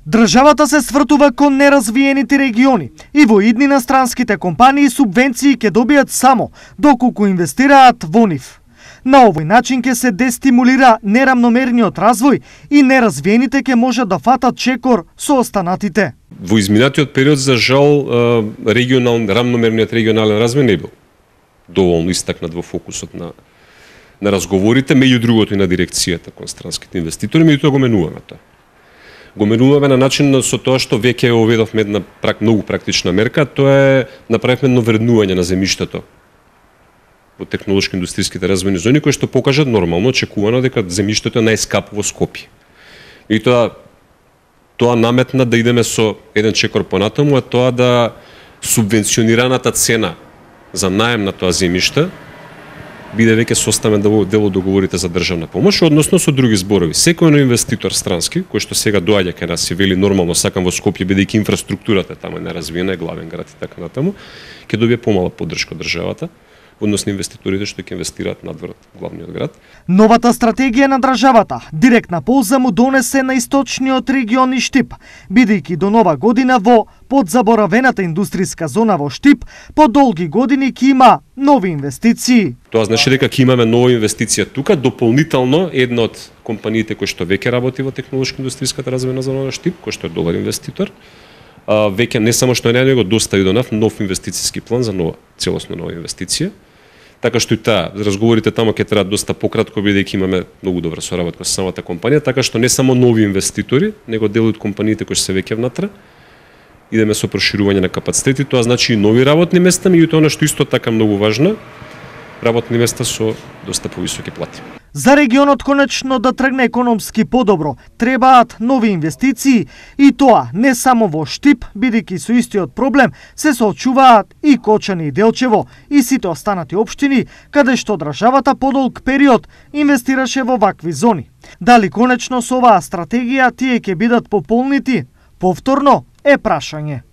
Државата се свртува кон неразвиените региони и во иднина странските компании субвенции ќе добијат само доколку инвестираат во нив. На овој начин ќе се дестимулира нерамномерниот развој и неразвиените ќе можат да фатат чекор со останатите. Во изминатиот период, за жал, рамномерниот регионален развој не бил доволно истакнат во фокусот на разговорите, меѓу другото и на дирекцијата кон странските инвеститори, меѓутоа го менуваме тоа. Го менуваме на начин со тоа што веќе оведовме една многу практична мерка, тоа е направивме едно вреднување на земјиштето во технолошко-индустријските развојни зони, кои што покажат нормално очекувано дека земјиштето е најскапо во Скопје. И тоа наметна да идеме со еден чекор понатаму, а тоа да субвенционираната цена за наем на тоа земјиште биде веќе составен дел од договорите за државна помош, односно со други зборови. Секој инвеститор странски, кој што сега доаѓа кај нас и вели нормално сакам во Скопје, бидејќи инфраструктурата таму е неразвиена, е главен град и така натаму, ќе добие помала поддршка од државата, односно инвеститорите што ќе инвестираат надвор главниот град. Новата стратегија на државата директна полза му донесе на источниот регион и Штип, бидејќи до нова година во подзаборавената индустријска зона во Штип по долги години ќе има нови инвестиции. Тоа значи дека ќе имаме нова инвестиција тука, дополнително една од компаниите кои што веќе работи во технолошко-индустријската развојна зона на Штип, кој што е добар инвеститор, веќе не само што е него достави до нов инвестициски план за целосно нова инвестиција. Така што и таа разговорите таму ќе траат доста пократко, бидејќи имаме многу добра соработка со самата компанија, така што не само нови инвеститори, него дел од компаниите кои се веќе внатре. Идеме со проширување на капацитети, тоа значи и нови работни места, меѓутоа она што исто така многу важно, работни места со доста повисоки плати. За регионот конечно да тргне економски подобро, требаат нови инвестиции и тоа не само во Штип, бидејќи со истиот проблем се соочуваат и Кочани и Делчево и сите останати општини, каде што државата подолг период инвестираше во вакви зони. Дали конечно со оваа стратегија тие ќе бидат пополнити? Повторно е прашање.